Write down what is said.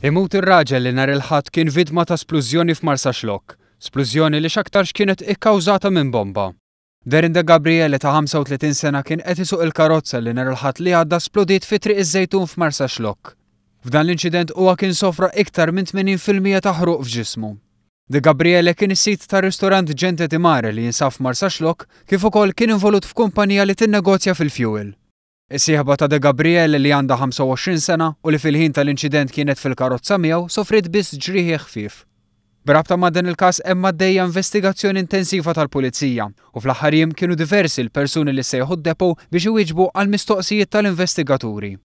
Imut ir-raġel li nhar il-Ħadd kien vittma ta' splużjoni f'Marsaxlokk. Splużjoni li x'aktarx kienet ikkawżata minn bomba. Darren De Gabriele ta' 35 sena kien qed isuq il-karozza li nhar il-Ħadd li għadda splodiet fi Triq iż-Żejtun f'Marsaxlokk. F'dan l-inċident huwa kien sofra iktar minn 80% ta' ħruq f'ġismu. De Gabriele kien is-sid tar-ristorant Gente di Mare li jinsab f'Marsaxlokk kif ukoll kien involut f'kumpanija li tinnegozja fil-fuel. Is-sieħba ta' De Gabriele li għandha 25 sena u li fil-ħin tal-inċident kienet fil-karozza miegħu sofriet biss ġrieħi ħfief. B'rabta ma' dan il-każ hemm għaddejja investigazzjoni intensiva tal-Pulizija u fl-aħħar jiem kienu diversi l-persuni li ssejħu d-depot biex iwieġbu għall-mistoqsijiet tal-investigaturi.